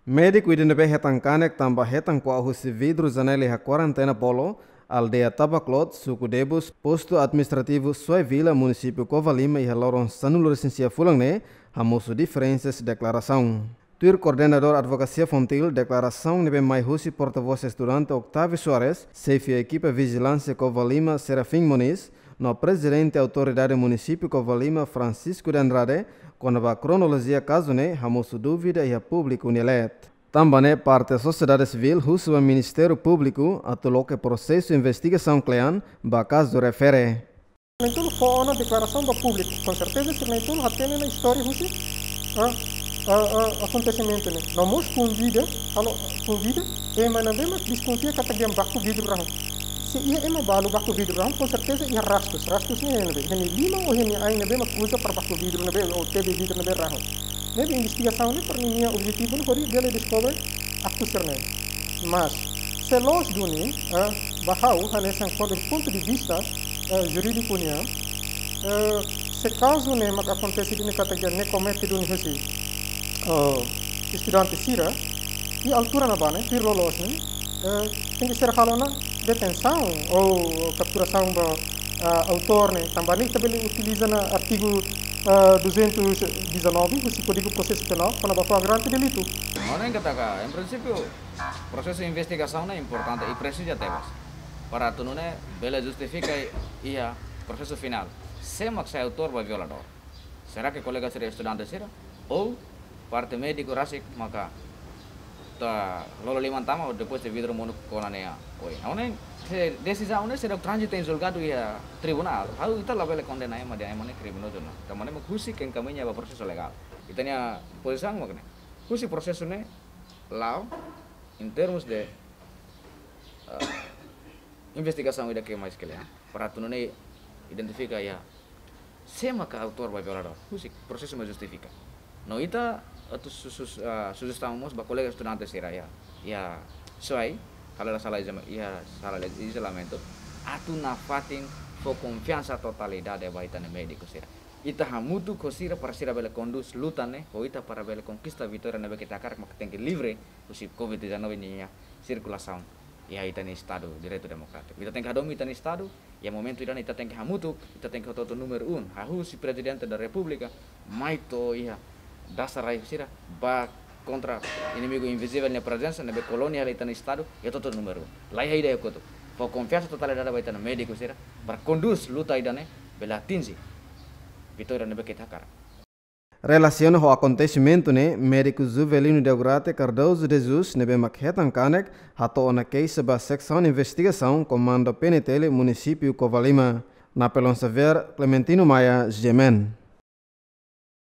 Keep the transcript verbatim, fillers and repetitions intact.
Médiku ida ne'ebé hetan kanek tanba hetan kuak husi vidru janela iha Kuarentena Polo, aldeia Tabaklot, suku Debus, postu administrativu Suai Vila, munisípiu Covalima, iha loron sanulu-resin-sia fulan ne'e, hamosu diferensa deklarasaun. Tuir koordenadór Advokasia Fontil, deklarasaun ne'ebé mai husi portavós estudante Octavio Soares, xefe ekipa vijilánsia Covalima Serafim Moniz, no prezidente autoridade munisípiu Covalima Francisco de Andrade, kona-ba kronolojia kazu ne'e, hamosu dúvida iha públiku nia leet. Tanba ne'e parte sosiedade sivíl husu ba Ministériu Públiku atu loke prosesu investigasaun kle'an ba kazu refere. Ne'e tolu fó ona deklarasaun ba públiku, konserteza sira ne'e tolu hatene ona istória husi, ah, ah, ah, akontesimentu ne'e. No mós konvida, halo konvida ema ne'ebé mak deskonfia katak dehan baku vidru rahun. Se iha ema balu baku vidru rahun, konserteza iha rastus. Rastus ne'e iha ne'ebé? Iha nia liman ou iha nia ain ne'ebé mak uza para baku vidru ne'ebé, ou tebe vidru ne'ebé rahun. Ne'ebé investigasaun ne'e para ninia objetivu ne'e hodi bele deskobre aktu sira-ne'e. Mas, se loos duni, eh, ba ha'u, hanesan kuandu pontu de vista, eh, jurídiku nian, eh, se kazu ne'e mak akontese duni katak ne'e komete duni husi, eh, estudante sira, iha altura ne'ebá ne'e, tuir loloos ne'e, eh, tenke ser halo ona detensaun ou kapturasaun ba, ah, autór ne'e, tanba ne'e ita bele utiliza ona artigu, ah, duzentos e dezanove husi Kódigu Prosesu Penál, kona-ba flagrante delitu. Ha'u hanoin katak, em princípio, prosesu investigasaun ne'e importante i presiza tebes. Para atu nune'e bele justifika iha prosesu finál sé mak sai autór ba violadór. Será que kolega sira estudante sira? Ou parte médiku rasik maka atu lolo liman tama, ou depois de vidru monu kona nia oin. Ha'u hanoin, se desizaun ne'e seidauk tranzita em julgadu iha tribunál, ha'u, ita labele kondena ema dehan ema ne'e kriminozu ona. Tanba ne'e mak husik enkamiña ba prosesu legál. Ita-nia pozisaun mak ne'e. Husi prosesu ne'e la'o, em termos de, ah, investigasaun ida ke mais kle'an, para atu nune'e identifika iha sé maka autór ba violadór. Husik, prosesu mak justifika. No ita atu su-, su-, ah, sujestaun mós ba kolega estudante sira iha, iha Suai, halo sala iza-, iha sala izolamentu, atu nafatin fó konfiansa totalidade ba ita-nia médiku sira. Ita hamutuk ho sira para sira bele kondús luta ne'e ho ita para bele konkista vitória ne'ebé ke ita hakarak, mak tenke livre husi covid dezanove ninia sirkulasaun iha ita-nia Estadu Direitu Demokrátiku. Ita tenke hadomi ita-nia Estadu, iha momentu ida-ne'e ita tenke hamutuk, ita tenke hotu-hotu númeru un. Hahú husi Prezidente da Repúblika mai to'o iha dasar rai sira, bá kontra inimigu invizivel nia prezensa, ne'ebé koloniál ita-nia Estadu, iha hotu-hotu númeru un. Laiha ida iha kotuk. Fó konfiansa totalidade ba ita-nia médiku sira, para kondús luta ida-ne'e bele atinje vitória ne'ebé ke ita hakarak. Relasiona ho akontesimentu ne'e, médiku Juvelino Deograte Cardoso de Jesus, ne'ebé mak hetan kanek, hato'o ona keixa ba seksaun investigasaun Komandu P N T L munisípiu Covalima. Napoleão Xavier, Clementino Maia, G M N.